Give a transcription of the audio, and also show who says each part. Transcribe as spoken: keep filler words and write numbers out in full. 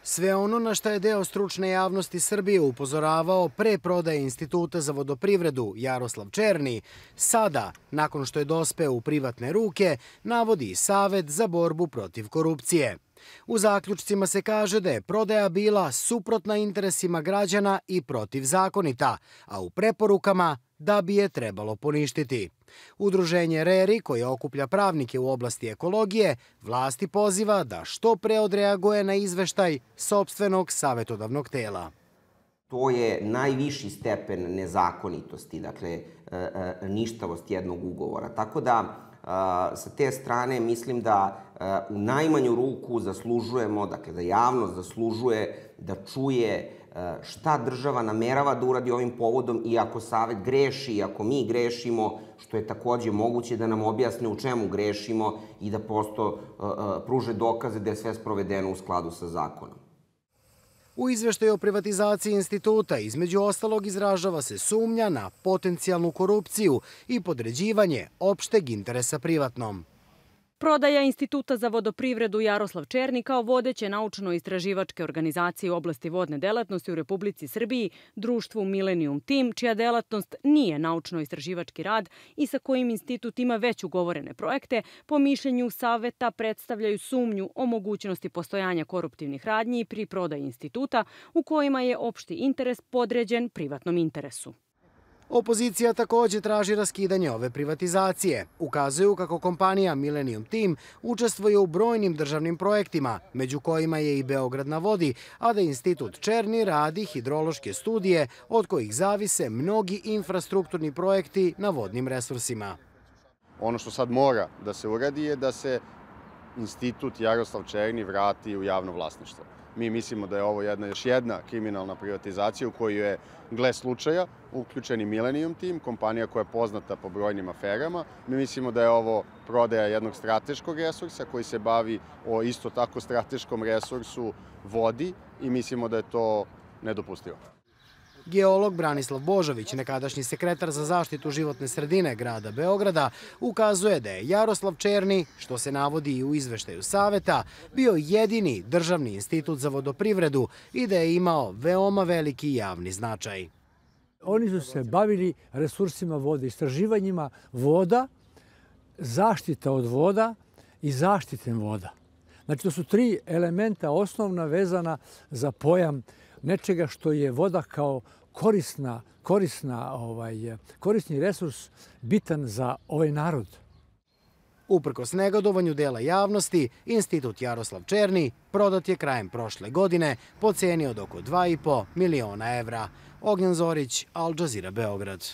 Speaker 1: Sve ono na šta je deo stručne javnosti Srbije upozoravao pre prodaje Instituta za vodoprivredu Jaroslav Černi, sada, nakon što je dospeo u privatne ruke, navodi Savet za borbu protiv korupcije. U zaključcima se kaže da je prodaja bila suprotna interesima građana i protivzakonita, a u preporukama da bi je trebalo poništiti. Udruženje RERI, koje okuplja pravnike u oblasti ekologije, vlasti poziva da što pre odreaguje na izveštaj sopstvenog savetodavnog tela.
Speaker 2: To je najviši stepen nezakonitosti, dakle ništavost jednog ugovora. Tako da sa te strane mislim da u najmanju ruku zaslužujemo, dakle da javnost zaslužuje da čuje šta država namerava da uradi ovim povodom i ako Savet greši i ako mi grešimo, što je takođe moguće da nam objasne u čemu grešimo i da prosto pruže dokaze da je sve sprovedeno u skladu sa zakonom.
Speaker 1: U izveštaju o privatizaciji instituta između ostalog izražava se sumnja na potencijalnu korupciju i podređivanje opšteg interesa privatnom.
Speaker 3: Prodaja Instituta za vodoprivredu Jaroslav Černi kao vodeće naučno-istraživačke organizacije u oblasti vodne delatnosti u Republici Srbiji, društvu Millennium Team, čija delatnost nije naučno-istraživački rad i sa kojim institut ima već ugovorene projekte, po mišljenju Saveta predstavljaju sumnju o mogućnosti postojanja koruptivnih radnji pri prodaji instituta u kojima je opšti interes podređen privatnom interesu.
Speaker 1: Opozicija takođe traži raskidanje ove privatizacije. Ukazuju kako kompanija Millennium Team učestvuje u brojnim državnim projektima, među kojima je i Beograd na vodi, a da Institut Černi radi hidrološke studije od kojih zavise mnogi infrastrukturni projekti na vodnim resursima.
Speaker 4: Ono što sad mora da se uradi je da se Institut Jaroslav Černi vrati u javno vlasništvo. Mi mislimo da je ovo jedna, još jedna kriminalna privatizacija u kojoj je, gle slučaja, uključeni Millennium Team, kompanija koja je poznata po brojnim aferama. Mi mislimo da je ovo prodaja jednog strateškog resursa koji se bavi o isto tako strateškom resursu vodi i mislimo da je to nedopustivo.
Speaker 1: Geolog Branislav Božović, nekadašnji sekretar za zaštitu životne sredine grada Beograda, ukazuje da je Jaroslav Černi, što se navodi i u izveštaju Saveta, bio jedini državni institut za vodoprivredu i da je imao veoma veliki javni značaj.
Speaker 5: Oni su se bavili resursima vode, istraživanjima voda, zaštita od voda i zaštitem voda. Znači, to su tri elementa osnovna vezana za pojam nečega što je voda kao korisna, korisna, ovaj, korisni resurs bitan za ovaj narod.
Speaker 1: Uprkos negodovanju dela javnosti, Institut Jaroslav Černi prodat je krajem prošle godine po ceni od oko dva i po miliona evra. Ognjen Zorić, Al Jazeera, Beograd.